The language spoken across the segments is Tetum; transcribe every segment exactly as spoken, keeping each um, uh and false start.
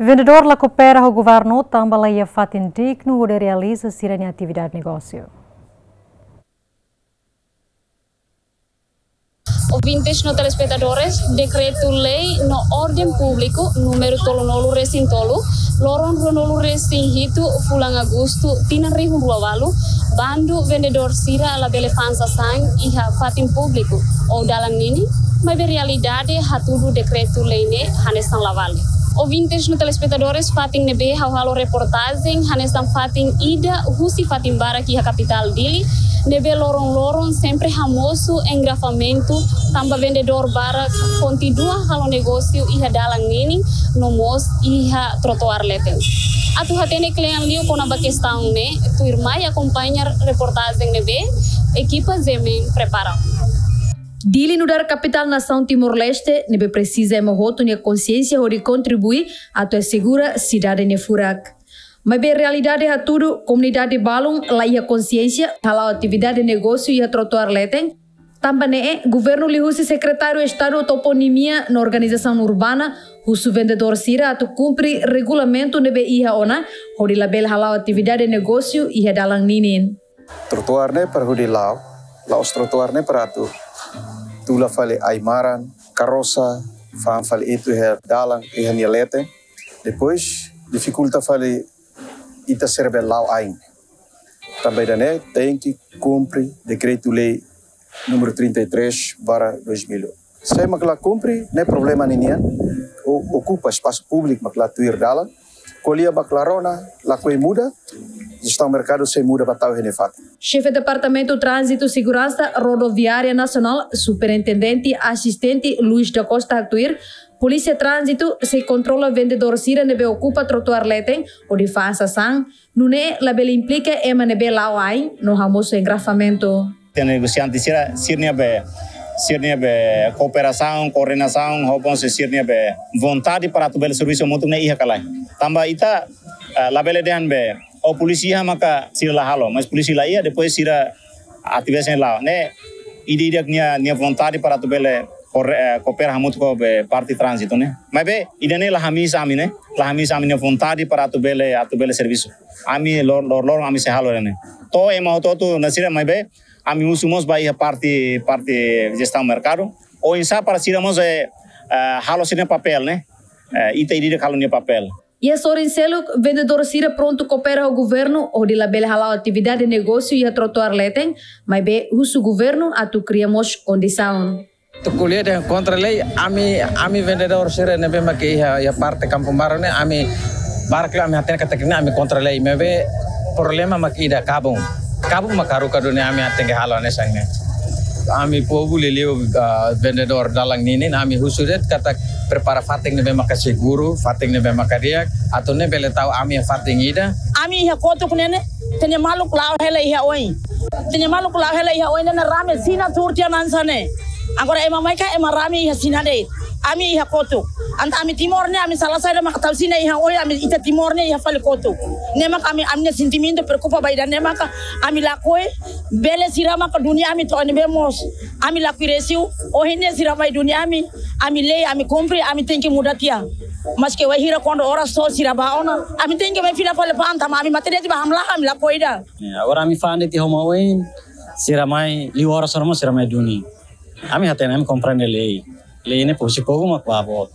Vendedór la koopera ho governu tanba la iha fatin dignu hodi realiza sira-nia atividade negósiu. Ouvintes no telespetadores, Dekretu-Lei no Orden Públiku númeru tolunulu-resin-tolu, loron ruanulu-resin-hitu, fulan Agostu, tinan rihun rua ualu, bandu vendedór sira labele fa'an sasán iha fatin públiku ou dalan ninin, maibé realidade hatudu Dekretu-Lei ne'e hanesan la vale. Ouvintes no telespetadores, fatin ne'ebé ha'u halo reportajen hanesan fatin ida husi fatin barak iha kapitál Dili, ne'ebé loron-loron sempre hamosu engarrafamentu, tanba vendedór barak kontinua halo negósiu iha dalan ninin, no mós iha trotoár leten. Atu hatene kle'an liu kona-ba kestaun ne'e, tuirmai akompaña reportajen ne'ebé ekipa G M N prepara. Dili nu'udar kapitál nasaun Timor-Leste, ne'ebé presiza ema hotu nia konsiénsia hodi kontribui atu asegura sidade nia furak. Maibé realidade hatudu, komunidade balun la iha konsiénsia hala'o atividade negósiu iha trotoár leten. Tanba ne'e, governu liuhusi Sekretáriu Estadu Toponimia no Organizasaun Urbana husu vendedór sira atu kumpre regulamentu ne'ebé iha ona, hodi labele hala'o atividade negósiu iha dalan ninin. Trotoár ne'e para hodi la'o, la'ós trotoár ne'e para atu tula fali ai-maran, karrosa, fa'an fali etu iha dalan, iha nia leten. Depois, difikulta fali ita sira bele la'o ain. Tanba ida-ne'e tenke kumpre Dekretu-Lei númeru trinta e três barra dois mil. Se ema la kumpre, ne'e problema ninian, o-, okupa espasu públiku mak la tuir dalan, ko'alia mak la rona, lakohi muda, jestaun merkadu sei muda ba tau iha nia fatin. Xefe Departamentu Tránzitu Seguransa Rodoviária Nasionál, Superintendente Asistente Luis da Costa haktuir, Polísia Tránzitu sei kontrola vendedór sira ne'ebé okupa trotoár leten hodi fa'an sasán, nune'e labele implika ema ne'ebé la'o ain no hamosu engarrafamentu. Iha negosiante sira, sira-nia be, sira-nia be kooperasaun, koordenasaun, ho bon se sira-nia be vontade para atu bele servisu hamutuk ne'e iha ka lae. Tanba ita, eh, labele dehan be, o polísia iha maka sira la halo, mas polísia la iha, depois sira atividade ne'e la'o. Ne'e, ida-idak nia, nia vontade para atu bele koor-, eh, koopera hamutuk ho be parte tránzitu ne'e. Maibé, ida-ne'e la hamiis ami ne'e, la hamiis ami-nia vontade para atu bele, atu bele servisu. Ami lor-, lor-, loron ami sei halo ne'e. To'o ema hotu-hotu na sira maibé, ami husu mós ba iha parte, parte jestaun merkadu. Oinsá para sira mós, eh, eh, halo sira-nia papél ne'e. Eh, ita ida-idak halo nia papél. Iha sorin seluk, vendedór sira prontu koopera ho governu hodi labele hala'o atividade negósiu iha trotoár leten, maibé husu governu atu kria mós kondisaun. Atu ko'alia dehan kontra lei, ami, ami vendedór sira ne'ebé mak iha, iha parte Kampung Baru ne'e, ami barak liu ami hatene katak ne'e ami kontra lei, maibé problema mak ida kabun. Kabun mak haruka duni, ami tenke halo hanesan ne'e. Ami povu liuliu, ah, vendedór dalan ninin, ami husu de'it katak prepara fatin ne'ebé maka seguru, fatin ne'ebé maka di'ak, atu nune'e bele tau ami iha fatin ida. Ami iha kotuk ne'e ne'e, ita-nia maluk la'o hela iha oin. Ita-nia maluk la'o hela iha oin ne'e rame Xina tuur tiha hanesan ne'e. Agora ema mai ka ema rame iha Xina de'it. Ami iha kotuk. Entaun ami Timor ne'e, ami sala saida maka tau Xina iha oin, ami ita Timor ne'e iha fali kotuk. Ne'e maka ami, ami-nia sentimentu preokupa ba ida-ne'e maka ami lakohi, bele sira maka duni ami to'o ne'ebé mós. Ami lakohi resu, ohin ne'e sira mai duni ami, ami lei, ami kumpre, ami tenke muda tiha. Maske wainhira kuandu oras to'o sira bá ona, ami tenke mai fila fali fa'an tanba ami mate de'it ba hamlaha, ami lakohi ida. Ya, agora ami fa'an de'it iha uma oin, sira mai, liu oras oras mós sira mai duni. Ami hatene, ami komprende lei. Lei ne'e husi povu mak bá boot.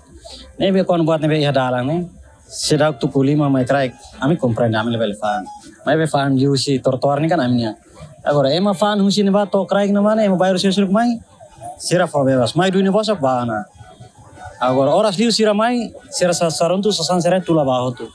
Ne'ebé kuandu buat ne'ebé iha dalan ne'e, seidauk tuku lima mai kraik, ami komprende, ami labele fa'an. Maibé fa'an liuhusi trotoár ne'e kan ami-nian. Agora, ema fa'an husi ne'ebá to'o kraik ne'ebá ne'e, ema bairru sira seluk mai, sira fó bebas. Mai duni bosok bá ona. Agora, oras liu sira mai, sira sa-, saruntu sasán sira tula bá hotu.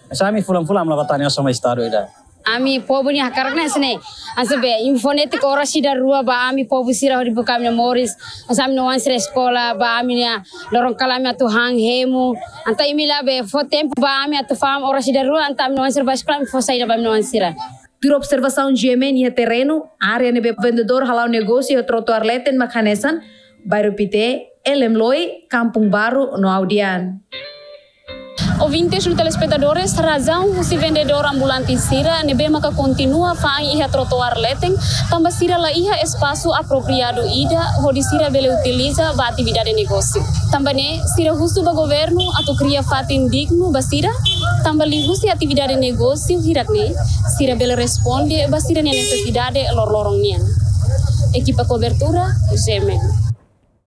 Hanesan ami fulan-fulan ami la bá tane osan ba estadu ida. Ami povu nia hakarak ne'e hanesan ne'e. Hanesan be, info netik oras ida rua ba ami povu sira hodi buka ami-nia moris. Hanesan ami-nia oan sira eskola, ba ami-nia loron kalan ami atu han hemu. Entaun imi labele fó tempu ba ami atu fa'an oras ida rua, entaun ami-nia oan sira bá eskola, ami fó saida ba ami-nia oan sira. Tuir observasaun G M N iha terrenu, área ne'ebé vendedór hala'o negósiu iha trotoár leten mak hanesan, Bairru Pité, Elemloi, Kampung Baru, no Audian. Ouvintes no telespetadores, razaun husi vendedór ambulante sira ne'ebé maka kontinua fa'an iha trotoár leten, tanba sira la iha espasu apropriadu ida hodi sira bele utiliza ba atividade negósiu. Tanba ne'e, sira husu ba governu atu kria fatin dignu ba sira, tanba liuhusi atividade negósiu hirak ne'e, sira bele responde ba sira-nia nesesidade loroloron nian. Ekipa kobertura, G M N.